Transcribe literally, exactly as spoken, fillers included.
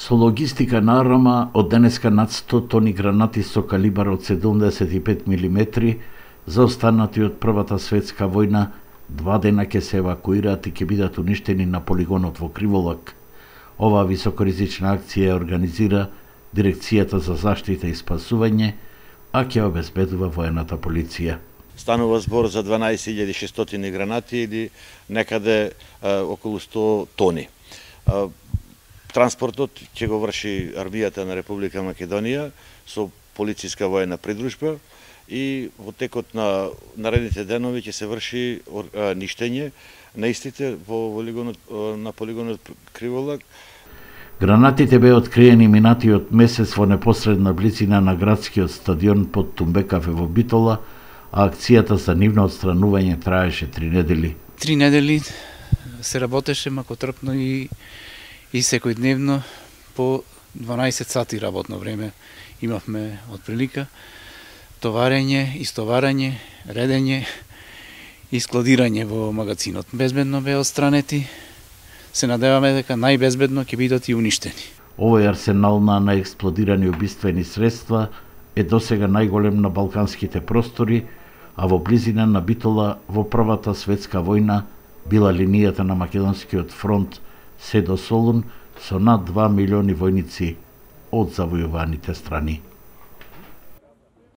Со логистика на Арама, од денеска над сто тони гранати со калибар од седумдесет и пет милиметри, заостанати од Првата светска војна, два дена ќе се евакуираат и ќе бидат уништени на полигонот во Криволак. Оваа високоризична акција ја организира Дирекцијата за заштита и спасување, а ќе обезбедува воената полиција. Станува збор за дванаесет илјади и шестстотини гранати или некаде а, околу сто тони. А, транспортот ќе го врши армијата на Република Македонија со полициска воена придружба и во текот на наредните денови ќе се врши а, ништење на истите во полигонот, на полигонот Криволак. Гранатите беа откриени минатиот месец во непосредна близина на градскиот стадион под Тумбекафе во Битола, а акцијата за нивно отстранување траеше три недели. Три недели се работеше макотрпно и и секојдневно по дванаесет сати работно време имавме отприлика товарење, истоварање, редење и складирање во магазинот. Безбедно беа отстранети. Се надеваме дека најбезбедно ќе бидат и уништени. Овој арсенал на наексплодирани убиствени средства е досега најголем на балканските простори, а во близина на Битола во Првата светска војна била линијата на Македонскиот фронт се до Солун со над два милиони војници од завојуваните страни.